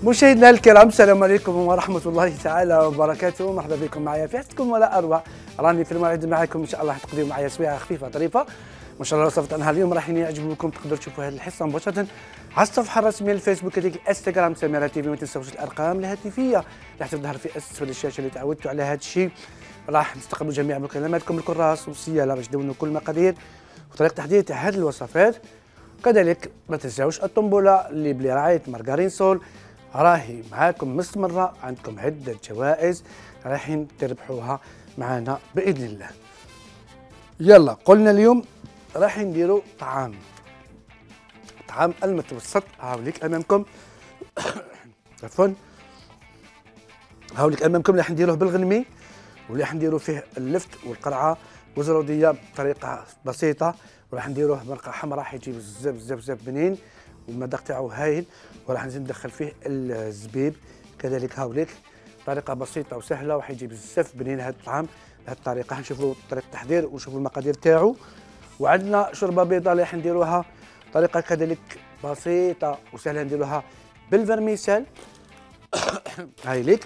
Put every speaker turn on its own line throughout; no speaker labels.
مشاهدينا الكرام، السلام عليكم ورحمة الله تعالى وبركاته. مرحبا بكم معايا في حسكم ولا أروع. راني في الموعد معكم إن شاء الله تقضيوا معايا سويعة خفيفة ظريفة ما شاء الله. وصفت عنها اليوم راح يعجبكم، تقدروا تشوفوا هذه الحصة مباشرة على الصفحة الرسمية للفيسبوك هذيك الانستغرام سميرة تيفي. ما تنساوش الأرقام الهاتفية راح تظهر في أسفل الشاشة اللي تعودتوا على هذا الشيء. راح نستقبلوا جميع مكالماتكم الكراس والسيالة باش تدونوا كل المقادير وطريقة تحضير تاع هذه الوصفات. كذلك ما تنساوش الطنبولة اللي بلي رعاية مارغرين سول راهي معاكم مستمرة، عندكم عدة جوائز رايحين تربحوها معنا بإذن الله. يلا قلنا اليوم راح نديروا طعام المتوسط. هاوليك أمامكم عفوا، هاوليك أمامكم اللي راح نديروه بالغنمي واللي راح نديروا فيه اللفت والقرعة والزرودية بطريقة بسيطة، وراح نديروه مرقة حمراء حيجي بزاف بزاف بزاف بنين والمذاق تاعو هايل، وراح نزيد ندخل فيه الزبيب كذلك. هاوليك طريقة بسيطة وسهلة وحيجي بزاف بنين هذا الطعام بهذه الطريقة. حنشوفوا طريقة التحضير ونشوفوا المقادير تاعو. وعندنا شوربة بيضاء اللي راح نديروها طريقة كذلك بسيطة وسهلة، نديروها بالفرميسال هايليك.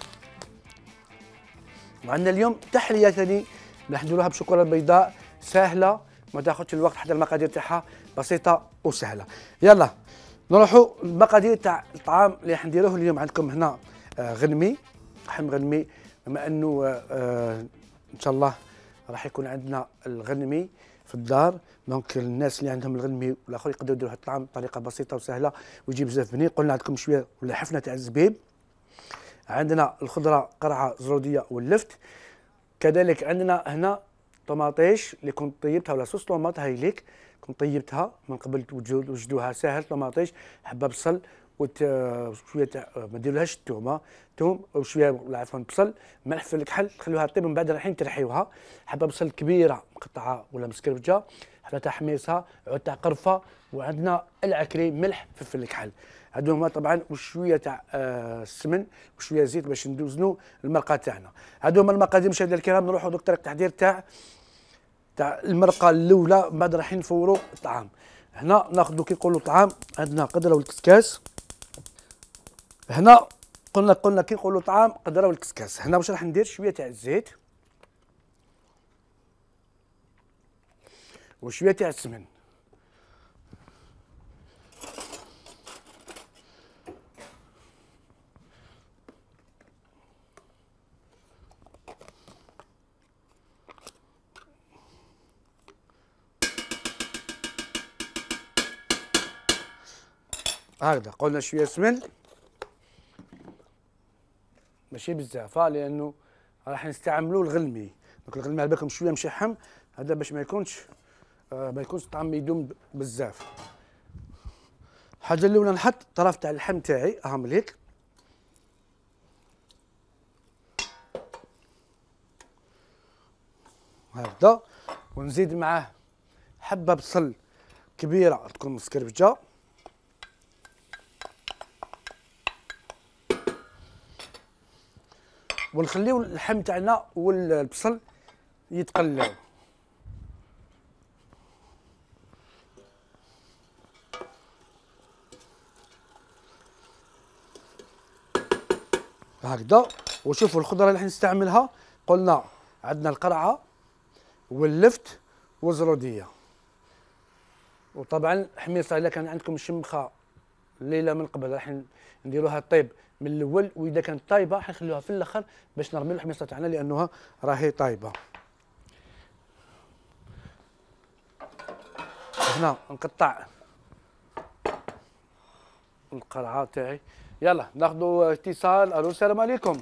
وعندنا اليوم تحلية ثاني راح نديروها بشوكولاتة بيضاء سهلة ما تاخذش الوقت، حتى المقادير تاعها بسيطة وسهلة. يلا نروحوا المقادير تاع الطعام اللي راح نديروه اليوم. عندكم هنا غنمي، لحم غنمي، بما انه ان شاء الله راح يكون عندنا الغنمي في الدار، دونك الناس اللي عندهم الغنمي والاخر يقدروا يديروا هذا الطعام بطريقه بسيطه وسهله ويجي بزاف بنين. قلنا عندكم شويه ولا حفنه تاع الزبيب، عندنا الخضره قرعه زروديه واللفت، كذلك عندنا هنا طماطيش اللي كنت طيبتها ولا صوص طوماط هايليك كنت طيبتها من قبل توجدوها ساهل. طماطيش، حبه بصل وشويه تاع ما ديرولهاش توم وشويه عفوا بصل، ملح في الكحل، تخلوها طيب من بعد رايحين ترحيوها. حبه بصل كبيره مقطعه ولا مسكربجه، حبه تاع حميصه، عود تاع قرفه، وعندنا العكري، ملح، فلفل الكحل. هادو هما طبعا وشويه تاع السمن وشويه زيت باش ندوزنوا المرقه تاعنا. هادو هما المقادير مشاهدينا الكرام. نروحوا دوك طريقه التحضير تاع المرقه الاولى، من بعد رايحين نفوروا الطعام. هنا ناخذوا كي نقولوا طعام عندنا قدره والكسكاس. هنا قلنا كي نقولوا طعام قدره والكسكاس. هنا واش راح ندير شويه تاع الزيت وشويه تاع السمن. هكذا قلنا شويه سمن ماشي بزاف لانه راح نستعملوا الغلمي. دونك الغلمي على بالكم شويه مشحم، هذا باش ما يكونش الطعم يدوم بزاف. الحاجه الاولى نحط طرف تاع اللحم تاعي هامليك، هكذا، ونزيد معاه حبه بصل كبيره تكون مسكربجه، ونخليو اللحم تاعنا والبصل يتقلاو. هكذا. وشوفوا الخضره اللي راح نستعملها، قلنا عندنا القرعه واللفت والزروديه، وطبعا حميصه الا كان عندكم الشمخه الليله من قبل راح نديروها طيب من الاول، واذا كانت طايبه حنخليوها في الاخر باش نرميو الحميصه تاعنا لانها راهي طايبه. هنا نقطع القرعه تاعي. يلا ناخذوا اتصال. الو السلام عليكم.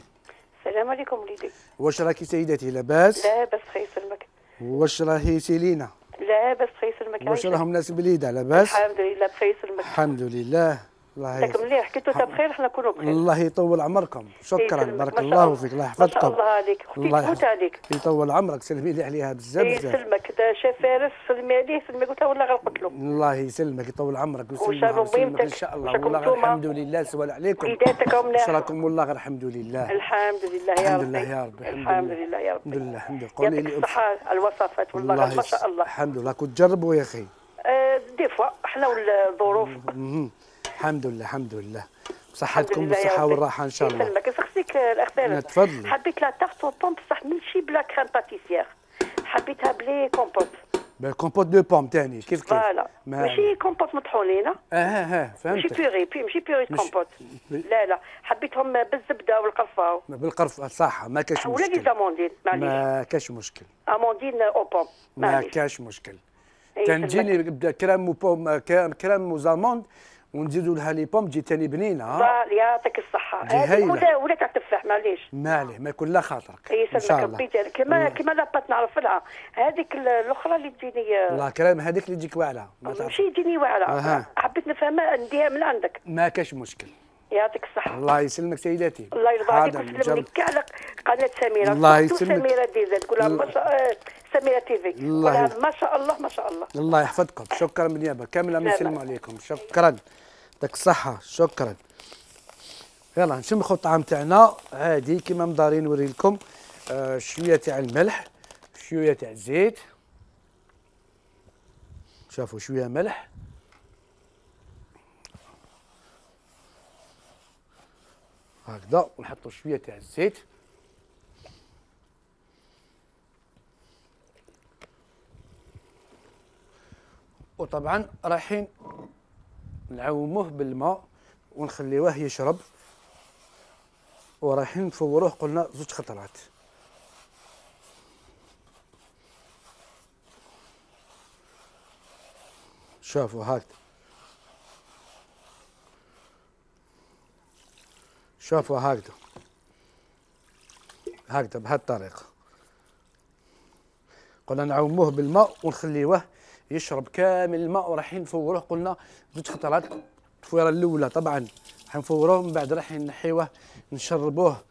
السلام عليكم وليدي.
واش راكي سيدتي لاباس؟
لاباس خير يسلمك.
واش راهي سيلينا؟
لاباس خير يسلمك.
واش راهم الناس بليده لاباس؟
الحمد لله بخير يسلمك.
الحمد لله. الله
ياك مليح حكيتو تا بخير حنا نكونوا بخير.
الله يطول عمركم، شكرا بارك الله فيك، الله يحفظكم.
ما شاء الله عليك اختي، تفوت عليك.
يطول عمرك، سلمي لي عليها بزاف بزاف.
يسلمك، دا شاف فارس سلمي عليه، سلمي قلت له والله غنقتلو.
الله يسلمك، يطول عمرك
ويسلمك
ان شاء الله. والله الحمد لله سوال عليكم.
وليداتك راهم
واش راكم؟ والله الحمد لله.
الحمد لله يا ربي.
الحمد لله يا ربي.
الحمد لله يا ربي.
الحمد لله الحمد لله. قولي لي
الصحة على الوصفات والله ما شاء الله.
الحمد لله. كنت تجربوا يا اخي؟
دي فوا حنا والظروف.
الحمد لله الحمد لله. صحتكم بالصحه والراحه ان شاء الله.
يسلمك. يسخسيك الاخ فارس.
تفضلي.
حبيت لا تارت او بوم بصح ماشي بلا كريم باتيسيير، حبيتها بلي كومبوت.
بالكومبوت دو بوم تاني كيف
فوالا ماشي كومبوت مطحونين.
فهمتك.
ماشي بيوري ماشي بيوري كومبوت. لا حبيتهم بالزبده والقرفه.
بالقرفه صح، ما كاش مشكل.
ولا لي زاموندين معليش.
ما كاش مشكل.
اموندين او بوم
ما كاش مشكل. تنجيني يبدا كريم وبوم كريم وزاموند ونزيدوا لها لي بوم تجي تاني بنينه.
يعطيك الصحه. هذه ولا تاع التفاح معليش.
ماليه ما يكون لا خاطرك.
يسلمك ربي. كيما لاباط نعرف لها هذيك الاخرى اللي تجيني.
الله كريم هذيك اللي تجيك واعره.
ماشي تجيني واعره. حبيت نفهمها نديها من عندك.
ما كاش مشكل.
يعطيك الصحة.
الله يسلمك سيداتي.
الله يرضى عليك ويسلم لك كاع قناة سميرة.
الله يسلمك.
سميرة ديزا تقولها ما شاء سميرة تيفي.
الله
ما شاء الله ما شاء الله.
الله يحفظكم. شكرا بالنيابة كاملة نسلم عليكم. شكرا. يعطيك الصحة. شكرا. يلا نشمخوا الطعام تاعنا عادي كيما مدارين نوري لكم. شوية تاع الملح، شوية تاع الزيت. شافوا شوية ملح. هكذا ونحطوا شويه تاع الزيت. وطبعا رايحين نعوموه بالماء ونخليوه يشرب، ورايحين نفوروه قلنا 2 خطرات. شوفوا هكذا، شوفوا هكذا بهذه الطريقة. قلنا نعوموه بالماء ونخليوه يشرب كامل الماء، ورايحين نفوروه قلنا 2 خطرات. التفويرة الأولى طبعا راح نفوروه، من بعد راح نحيوه نشربوه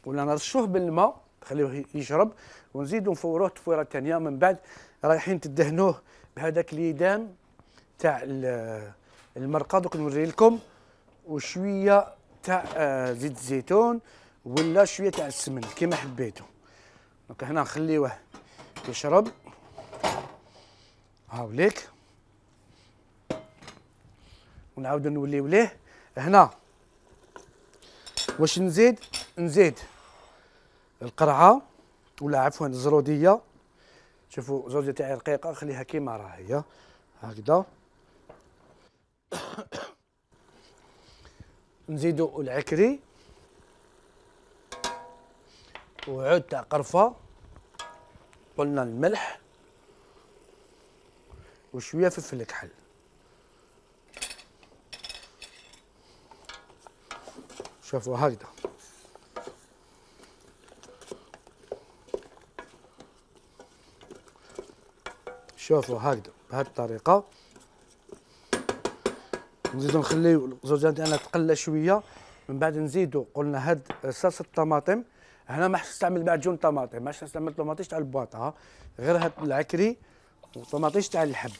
ولا نرشوه بالماء نخليوه يشرب، ونزيدو نفوروه التفويرة الثانية. من بعد رايحين تدهنوه بهذاك اليدام تاع المرقة دوك نوري لكم، وشوية تاع زيت الزيتون ولا شويه تاع السمن كيما حبيتوا. دونك هنا نخليوه يشرب هاوليك، ونعاودو نوليو ليه. هنا واش نزيد القرعه ولا عفوا الزروديه. شوفوا الزروديه تاعي رقيقه خليها كيما راهي هكذا. نزيدو العكري وعود تاع قرفه، قلنا الملح وشويه فلفل كحل. شوفوا هكذا بهذه الطريقه. نزيدو نخليو الزوجه تاعنا تقلى شويه، من بعد نزيدو قلنا هاد صلصه الطماطم. هنا ما حش نستعمل معجون طماطم، ما حش نستعمل طماطيش تاع البواطه، غير هاد العكري وطماطيش تاع الحب.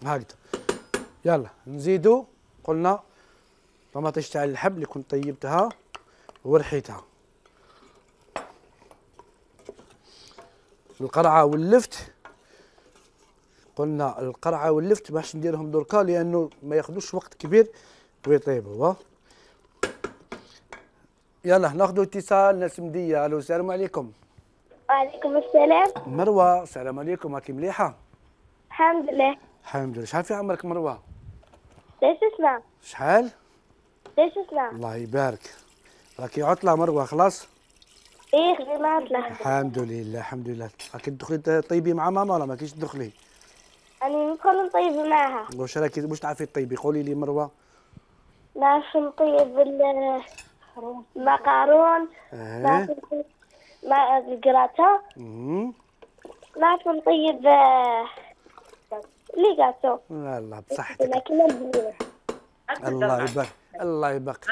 هكذا. يلا نزيدو قلنا طماطيش تاع اللحم اللي كنت طيبتها ورحيتها، القرعه واللفت. قلنا القرعه واللفت باش نديرهم دركا لانه ما ياخذوش وقت كبير ويطيبوا. يلا ناخذوا اتصال ناس مديه. الو السلام عليكم.
وعليكم السلام.
مروه السلام عليكم، راكي مليحه؟
الحمد لله.
الحمد لله. شحال في عمرك مروه؟
6 سنين.
شحال؟
6 سنين.
الله يبارك. راكي عطله مروه خلاص؟
ايه خدينا عطلة.
الحمد لله الحمد لله. راكي تدخلي طيبي مع ماما ولا ما كيش تدخلي؟
أنا ندخل نطيب معاها.
واش تعرفي تطيبي؟ قولي لي مروه.
نعرف نطيب المقارون. نعرف نطيب مع الكراتا. نعرف نطيب لي غاتو.
الله بصحتك.
لكن البنينة.
الله يبارك الله يبارك.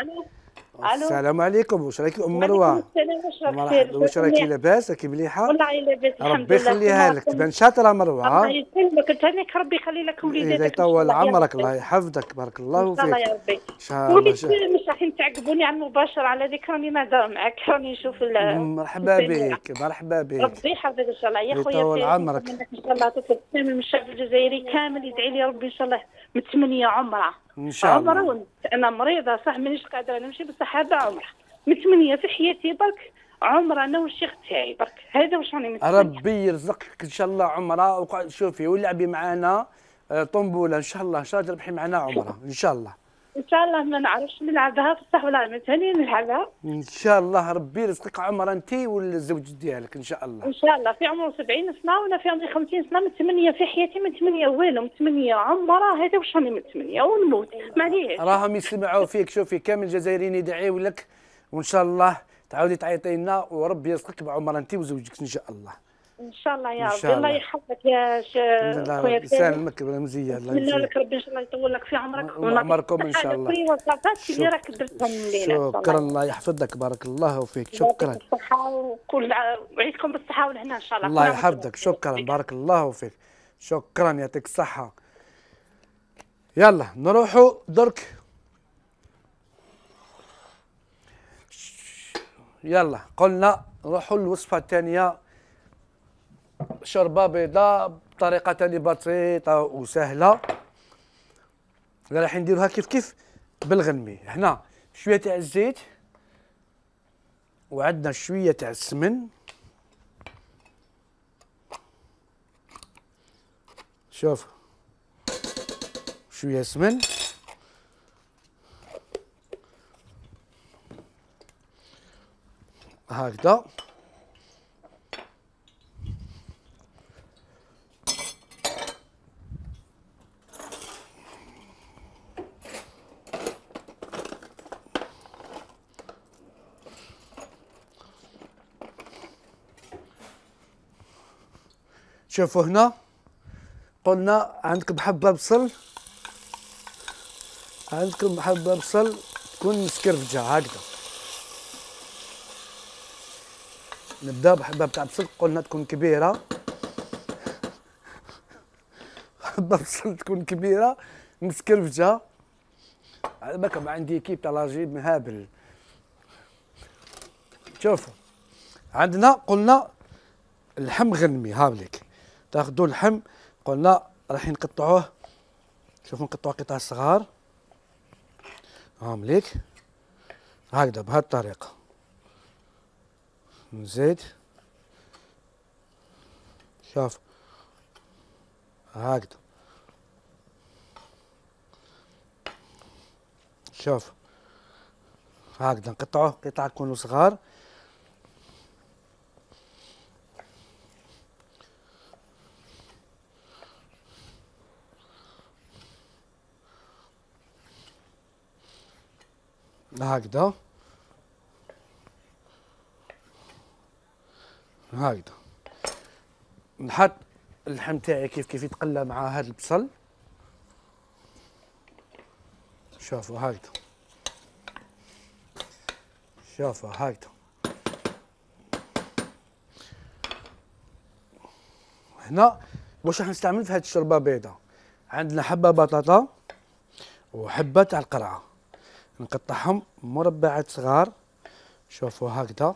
السلام عليكم، واش راكي ام مروه؟
السلام.
واش راكي لاباس؟ راكي مليحه؟
والله لاباس الحمد
ربي
لله.
يخليها لك، تبان شاطره مروه.
الله يسلمك، انت هناك ربي يخلي لك وليداتك.
إذا يطول عمرك الله يحفظك، بارك الله فيك.
ان شاء الله يا ربي.
ان شاء الله.
وليت مش رايحين تعقبوني على المباشر، على ذيك راني نهضر معاك، راني نشوف
مرحبا بك، مرحبا بك.
ربي يحفظك ان شاء الله يا خويا.
يطول عمرك.
ان شاء الله تطلب من الشعب الجزائري كامل يدعي لي ربي ان شاء الله متمنيه عمره.
ان شاء الله.
عمره انا مريضه صح، مانيش قادره نمشي، بصح هذا عمره متمنيه في حياتي برك. عمره انا والشيخ تاعي برك، هذا واش راني متمنيه.
ربي يرزقك ان شاء الله عمره. وقعد شوفي ولعبي معنا طنبوله ان شاء الله، ان شاء الله تربحي معنا عمره ان شاء الله.
ان شاء الله ما نعرفش نلعبها بصح ولا ثاني نلعبها
ان شاء الله. ربي يرزقك عمره انت والزوج ديالك ان شاء الله.
ان شاء الله. في عمره 70 سنه وانا في عمري 50 سنه، متمنيه في حياتي، متمنيه والو، متمنيه عمره. هذا واش راني متمنيه ونموت معليش.
راهم يسمعوا فيك. شوفي كامل الجزائريين يدعيو لك، وان شاء الله تعاودي تعيطي لنا وربي يرزقك بعمره انت وزوجك ان شاء الله.
ان شاء الله يا ربي. الله يحفظك يا خويا.
يسلمك مزيه. الله
نتمنى لك ربي ان شاء الله يطول لك في عمرك
وعمركم ان شاء الله.
كل وصفات اللي راك درتهم لينا.
شكرا، الله يحفظك، بارك الله فيك. شكرا.
بالصحه وكل وعيدكم بالصحه والهنا ان شاء الله.
الله يحفظك. شكرا، بارك الله فيك. شكرا، يعطيك الصحه. يلا نروحوا درك. يلا قلنا نروحوا للوصفه الثانيه، شوربه بيضاء بطريقه ثاني بسيطه وسهله. راح نديروها كيف بالغنمي. هنا شويه تاع الزيت وعندنا شويه تاع السمن. شوف شويه سمن، هكذا. شوفوا هنا قلنا عندكم حبه بصل، عندكم حبه بصل تكون مسكرفجه هكذا. نبدا بحبه تاع بصل، قلنا تكون كبيره. حبه بصل تكون كبيره مسكرفجه. على بالكم عندي كيب تاع لاجيب مهابل. شوفوا عندنا قلنا اللحم غنمي. هاوليك تاخذوا اللحم، قلنا راح نقطعوه. شوفوا نقطعوه قطع صغار هامليك هكذا بهذه الطريقه. نزيد شوف هكذا. شوف هكذا نقطعوه قطع يكونوا صغار. هكذا هكذا. نحط اللحم تاعي كيف يتقلى مع هذا البصل. شوفوا هكذا، شوفوا هكذا. هنا واش راح نستعمل في هذه الشوربه بيضاء؟ عندنا حبه بطاطا وحبه تاع القرعه، نقطعهم مربعات صغار. شوفوا هكذا.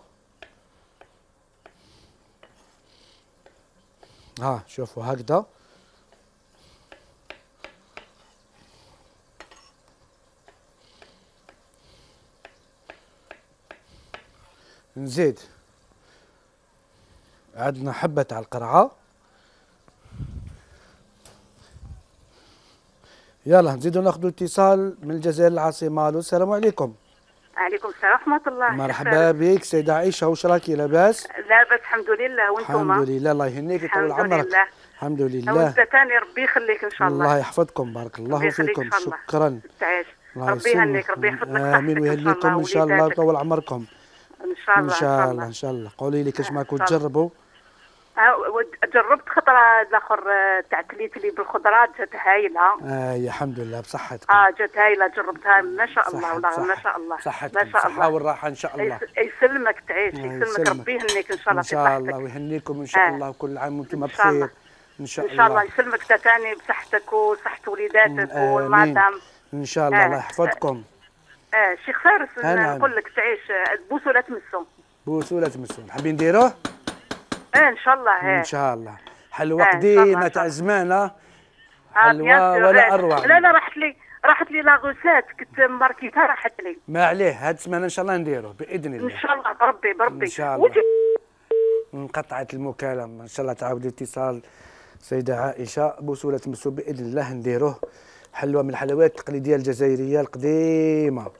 ها شوفوا هكذا. نزيد عندنا حبة تاع القرعة. يلا نزيدو ناخذ اتصال من الجزائر العاصمة. الو السلام عليكم.
عليكم السلام ورحمة الله.
مرحبا بك سيدة عائشة، واش راكي لاباس؟
لاباس الحمد لله، وانتم؟
الحمد لله، الله يهنيك يطول عمرك.
الحمد لله. ثاني ربي يخليك ان شاء الله.
الله يحفظكم، بارك الله فيكم. شكرا.
تعيش. ربي يهنيك، ربي يحفظ لك صحتك.
امين ويهنيكم ان شاء الله ويطول عمركم.
ان شاء الله
ان شاء الله ان شاء الله. قولي لي كاش معكم تجربوا
جربت خطره الاخر تاع كليتلي بالخضرات جات هايله.
يا الحمد لله بصحتكم.
جات هايله جربتها ما شاء الله والله ما شاء الله.
صحتك
ما شاء الله.
الصحة والراحة ان شاء الله.
يسلمك تعيش يسلمك ربي يهنيك ان شاء الله.
ان شاء الله ويهنيكم ان شاء الله وكل عام وانتم بخير ان شاء الله.
ان شاء الله يسلمك تاني بصحتك وصحة وليداتك والمدام
ان شاء الله. الله يحفظكم.
شيخ فارس نقول لك تعيش بوسوا لا تمسوا.
بوسوا لا تمسوا حابين نديروه؟
ان شاء الله.
ان شاء الله. حلوة قديمة تاع زمانة حلوة ولا اروع.
لا راحت لي لاغوسات كنت ماركيتها راحت لي.
ما عليه هاد السمانة ان شاء الله نديروه باذن الله.
ان شاء الله بربي
ان شاء الله. انقطعت المكالمة ان شاء الله تعاود الاتصال سيدة عائشة. بوسوا لا تمسوا باذن الله نديروه. حلوة من الحلويات التقليدية الجزائرية القديمة.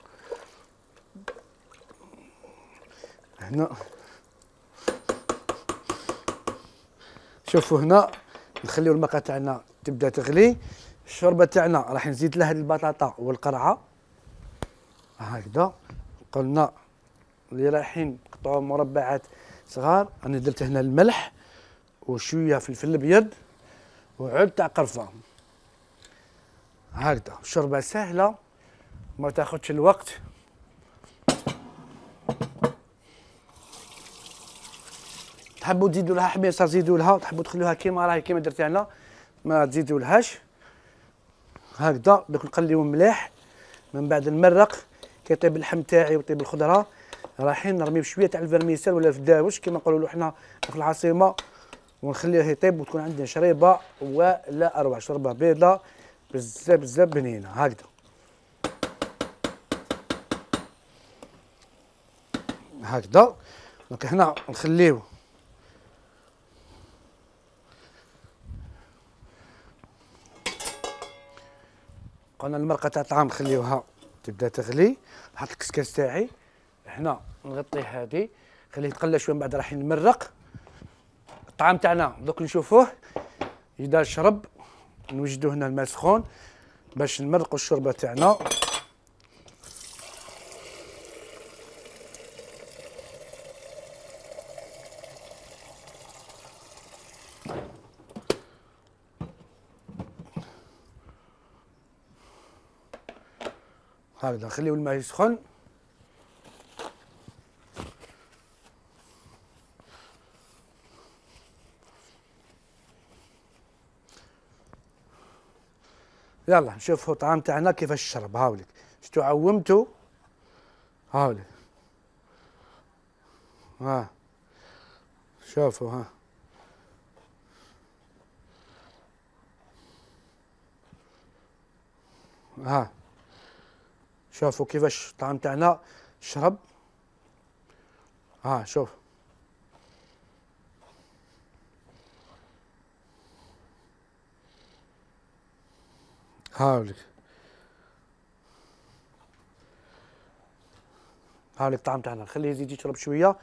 هنا شوفوا هنا نخليو الماء تاعنا تبدا تغلي. الشوربه تاعنا راح نزيد لها البطاطا والقرعه هكذا. قلنا اللي رايحين نقطعوا مربعات صغار. انا درت هنا الملح وشويه فلفل ابيض وعود تاع قرفه هكذا. الشوربه سهله ما تاخذش الوقت. تحبوا تزيدوا لها حميصه زيدوا لها، تحبوا تخلوها كيما راهي كيما درت انا ما تزيدوا لهاش هكذا. دوك نقليو مليح من بعد نمرق كي يطيب اللحم تاعي ويطيب الخضره. رايحين نرميو شويه تاع الفرميسال ولا الفداوش كيما نقولوا حنا في العاصمه ونخليه يطيب وتكون عندنا شريبه ولا اروع. شوربه بيضاء بزاف بزاف بنينه هكذا هكذا. دونك هنا نخليو قلنا المرقه تاع الطعام نخليوها تبدا تغلي. نحط الكسكاس تاعي هنا نغطيه هذه خليه يتقلى شويه من بعد راح نمرق الطعام تاعنا. دوك نشوفوه يدار شرب. نوجدو هنا الماء سخون باش نمرقوا الشوربه تاعنا. هكذا نخليو الماء يسخن. يلا نشوفوا الطعام تاعنا كيفاش شرب. هاوليك شتو عومتو هاوليك ها شوفوا ها شوفوا كيفاش الطعام تاعنا شرب. شوف هاوليك الطعام تاعنا نخليه يزيد يشرب شويه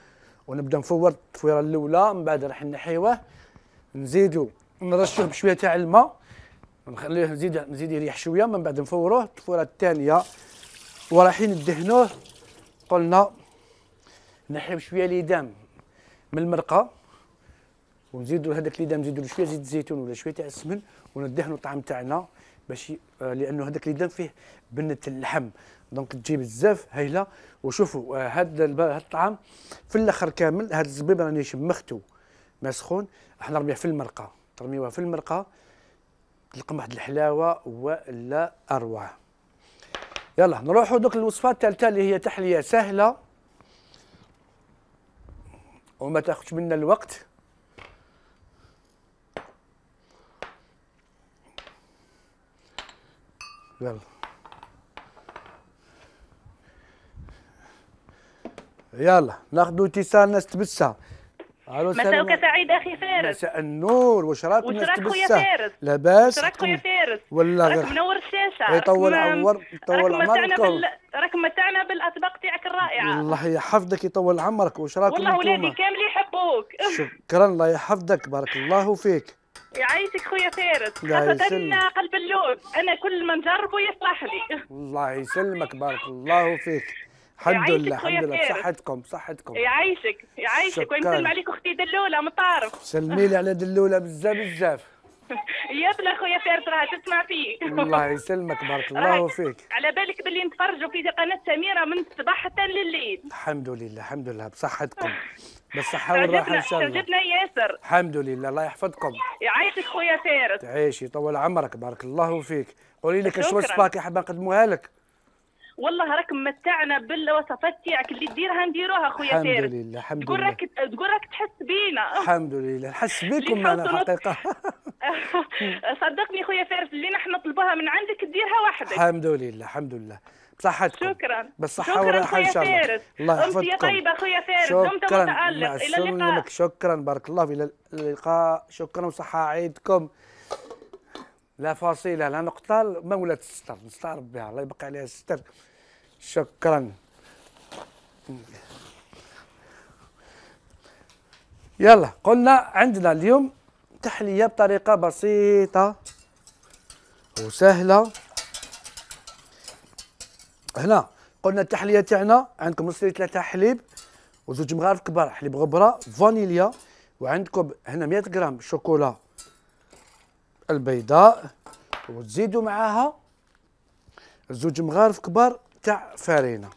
ونبدا نفور التفويره الاولى. من بعد راح نحيوه نزيدو نرشوه بشويه تاع الماء ونخليه نزيد يريح شويه. من بعد نفوروه التفويره الثانيه ورايحين ندهنوه. قلنا نحيو شويه ليدام من المرقه ونزيدو هذاك ليدام نزيدو له شويه زيت الزيتون ولا شويه تاع السمن وندهنوا الطعام تاعنا باش لانه هذاك ليدام فيه بنه اللحم دونك تجي بزاف هايله. وشوفوا هذا الطعام في الاخر كامل. هذا الزبيب راني شمختو ما سخون راح نرميه في المرقه. ترميوها في المرقه تلقى واحد الحلاوه ولا اروع. يلا نروحوا دوك الوصفه الثالثه اللي هي تحليه سهله وما تاخذش منا الوقت. يلا ناخذوا اتصال ناس تبسها.
مساءك سعيد اخي فارس.
مساء النور. واش راك
الناس تبسها؟ خويا فارس
لاباس؟
واش راك خويا فارس؟
ولا
راك منور الشاشه.
يطول عمرك
راك متعنا بالاطباق تاعك الرائعه.
الله يحفظك يطول عمرك. واش راكم
والله ولادي كامل يحبوك.
شكرا الله يحفظك بارك الله فيك.
يعيشك خويا فارس خاصة قلب اللوز. أنا كل ما نجربه يصلح لي.
الله يسلمك بارك الله فيك. الحمد لله
يعيشك خويا
الحمد لله،
فارس.
بصحتكم
يعيشك
شكراً.
ويسلم عليك اختي دلوله من طارق.
سلمي لي على دلوله بزاف.
يا خويا فارس راها تسمع فيك.
الله يسلمك، بارك الله فيك.
على بالك باللي نتفرجوا في قناه سميره من الصباح حتى لليل.
الحمد لله بصحتكم، بالصحة والراحة إن شاء الله.
عجبنا ياسر.
الحمد لله، الله يحفظكم.
يعيشك خويا فارس.
تعيشي طول عمرك، بارك الله فيك. قولي لك اش
شكراً.
وصفاك حابة نقدموها لك؟
والله راك متعنا بالوصفات تاعك اللي ديرها نديروها خويا فارس.
الحمد
تقول
لله
راك تحس بينا.
الحمد لله، نحس بكم
اللي
انا
نحوسوا
حقيقة.
صدقني خويا فارس اللي نحن نطلبوها من عندك ديرها وحدك.
الحمد لله بصحتكم.
شكرا.
بالصحة والراحة إن شاء الله.
فارس.
الله يحفظكم.
أمسية طيبة خويا فارس. دمت
شكرا،
متألق.
مع
إلى اللقاء.
السلامة. شكرا، بارك الله، إلى اللقاء. شكرا وصحة عيدكم. لا فاصلة لا نقطة، مولة الستر نستعرض بها، الله يبقى عليها الستر. شكرا. يلا قلنا عندنا اليوم تحلية بطريقة بسيطة وسهلة. هنا قلنا التحلية تاعنا عندكم نص لتر حليب وزوج مغارف كبار حليب غبرة فانيليا، وعندكم هنا 100 غرام شوكولا البيضاء، وتزيدوا معاها زوج مغارف كبار تاع فارينة.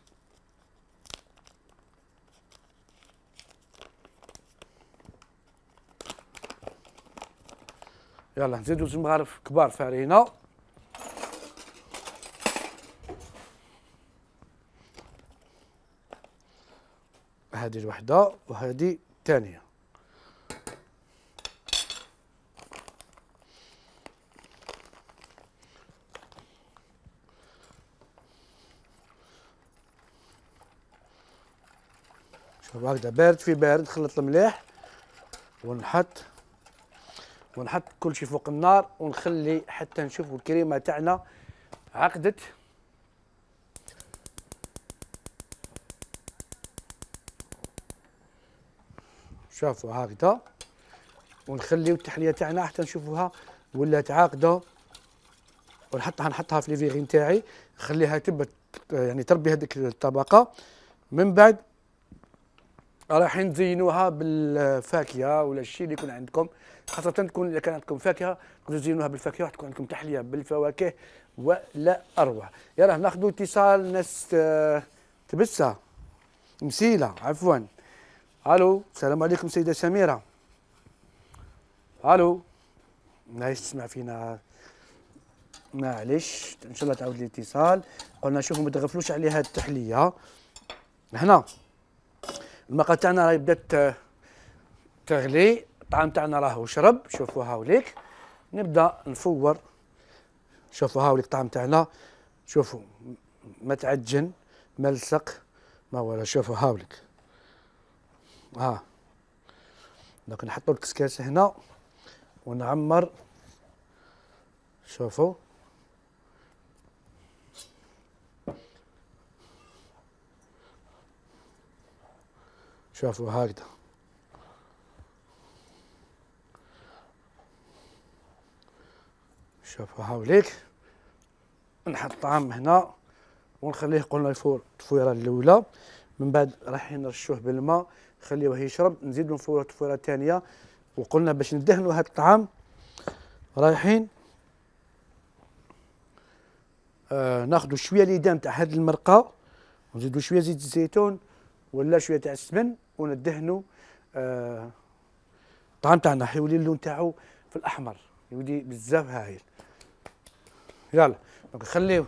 يلا نزيدوا زوج مغارف كبار فارينة. هذه الوحدة وهذه الثانية. شوف هكذا بارد في بارد، خلط المليح ونحط كل شيء فوق النار ونخلي حتى نشوفوا الكريمة تاعنا عقدت. شوفوا هكذا، ونخليو التحليه تاعنا حتى نشوفوها ولات عاقده، نحطها في ليفيغي نتاعي، نخليها تبت يعني تربي هذيك الطبقه. من بعد رايحين نزينوها بالفاكهه ولا الشيء اللي يكون عندكم، خاصه تكون اذا كان عندكم فاكهه تقدروا تزينوها بالفاكهه وتكون عندكم تحليه بالفواكه ولا اروع. يلا ناخذوا اتصال ناس تبسه مسيله عفوا. الو السلام عليكم سيده سميره. الو لا يسمع فينا، معليش ان شاء الله تعاود الاتصال. قلنا شوفوا ما تغفلوش عليها التحليه. هنا الماء تاعنا راهي بدات تغلي، الطعام تاعنا راهو شرب. شوفوا هاوليك نبدا نفور. شوفوا هاوليك الطعام تاعنا، شوفوا ما تعجن ما لصق ما ولا. شوفوا هاوليك دونك نحطوا الكسكاس هنا ونعمر. شوفوا هكذا. شوفوا هاوليك نحط الطعام هنا ونخليه قلنا يفور التفويره الاولى. من بعد رايحين نرشوه بالماء نخليوه يشرب، نزيدو نفورو التفويره الثانيه. وقلنا باش ندهنوا هذا الطعام رايحين ناخذوا شويه ليدام تاع هذه المرقه ونزيدوا شويه زيت الزيتون ولا شويه تاع السمن وندهنوا الطعام تاعنا. حيولي اللون تاعو في الاحمر، يولي بزاف هايل. يلا نخليوه.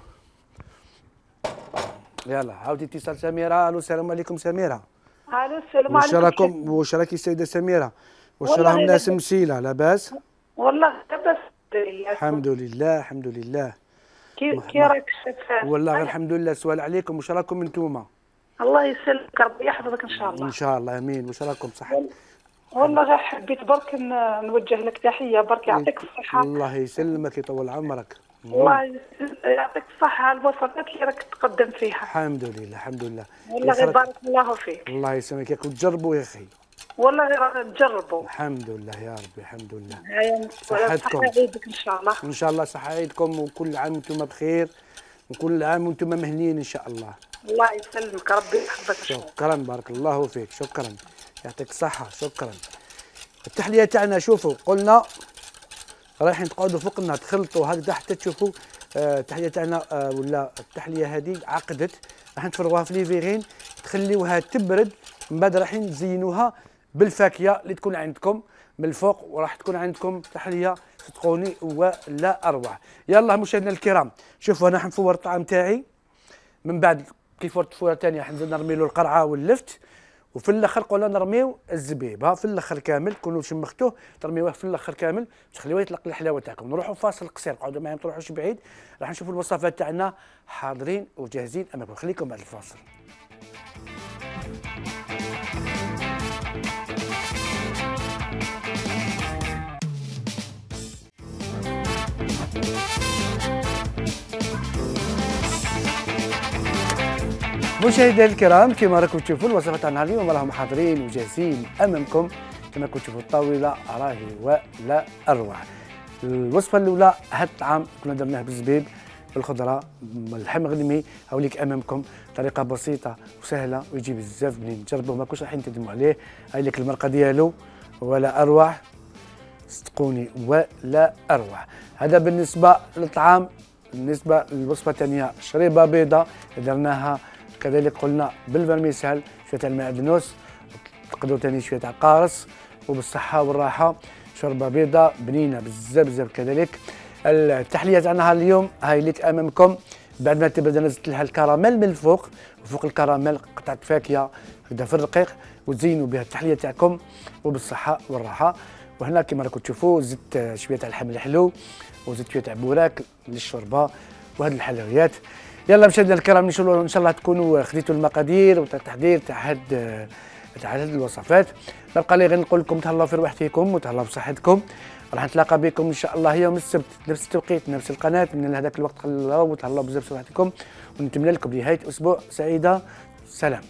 يلا عاودي اتصال سميره. الو السلام عليكم سميره.
الو السلام عليكم.
واش راكي السيده سميره؟ واش راهم ناس مسيله لاباس؟
والله لاباس.
الحمد لله.
كي راك شايف؟
والله غير الحمد لله. سؤال عليكم، واش راكم انتوما؟
الله يسلمك ربي يحفظك ان شاء الله.
ان شاء الله امين. واش راكم صح؟
والله غير حبيت برك نوجه لك تحيه، برك يعطيك الصحه.
الله يسلمك يطول عمرك.
الله يعطيك الصحه على الوصفات اللي راك تقدم فيها.
الحمد لله.
والله غير بارك الله فيك.
الله يسلمك ياك وتجربوا يا اخي.
والله غير نجربوا.
الحمد لله يا ربي الحمد لله.
صحتكم. صحة عيدك ان شاء الله.
ان شاء الله صحة عيدكم، وكل عام وانتم بخير، وكل عام وانتم مهنيين ان شاء الله.
الله يسلمك، ربي يحفظك.
شكرا، بارك الله فيك، شكرا، يعطيك الصحة، شكرا. التحلية تاعنا شوفوا قلنا رايحين تقعدوا فوق النار تخلطوا هكذا حتى تشوفوا التحلية تاعنا ولا التحلية هذه عقدت، راح نفرغوها في ليفيغين تخليوها تبرد، من بعد رايحين نزينوها بالفاكهة اللي تكون عندكم من الفوق، وراح تكون عندكم تحلية صدقوني ولا أروع. يلا مشاهدينا الكرام شوفوا أنا حنفور الطعام تاعي، من بعد كي فورت فوره ثانيه حنزيد نرمي له القرعه واللفت، وفي الاخر قلنا نرميو الزبيب في الاخر كامل، تكونوا شمختوه ترميوه في الاخر كامل تخليوه يطلق الحلاوه تاعكم. نروحوا فاصل قصير، قعدوا معايا ما تروحوش بعيد، راح نشوفوا الوصفات تاعنا حاضرين وجاهزين امامكم، خليكم بعد الفاصل. مشاهدينا الكرام كما راكم تشوفوا الوصفات تاعنا اليوم راهم حاضرين وجاهزين امامكم، كما راكم تشوفوا الطاوله راهي ولا اروع. الوصفه الاولى هذا الطعام كنا درناه بالزبيب بالخضره اللحم مغلمي، هاوليك امامكم طريقه بسيطه وسهله ويجي بزاف بنين، جربوه ما كنتش رايحين تندموا عليه. هاي لك المرقه ديالو ولا اروع، صدقوني ولا اروع. هذا بالنسبه للطعام. بالنسبه للوصفه الثانيه شريبه بيضاء درناها كذلك قلنا بالفرميسال، شويه تاع المعدنوس، تقدروا ثاني شويه تاع قارص، وبالصحه والراحه. شوربه بيضاء بنينه بزاف بزاف. كذلك التحليه تاعنا اليوم هاي لك امامكم، بعد ما تبدا نزلت لها الكراميل من الفوق، وفوق الكراميل قطعه فاكهه هكذا في الرقيق، وتزينوا بها التحليه تاعكم وبالصحه والراحه. وهنا كما راكم تشوفوا زدت شويه تاع اللحم الحلو، وزدت شويه تاع بوراك للشوربه وهذه الحلويات. يلا مشاهدينا الكرام ان شاء الله تكونوا خديتوا المقادير وتحضير تاع هاد الوصفات. نبقى لي غير نقول لكم تهلاو في رواحتكم وتهلاو بصحتكم. راح نتلاقى بكم ان شاء الله يوم السبت نفس التوقيت نفس القناه. من هذاك الوقت تهلاو بزاف بصحتكم، ونتمنى لكم نهايه اسبوع سعيده. سلام.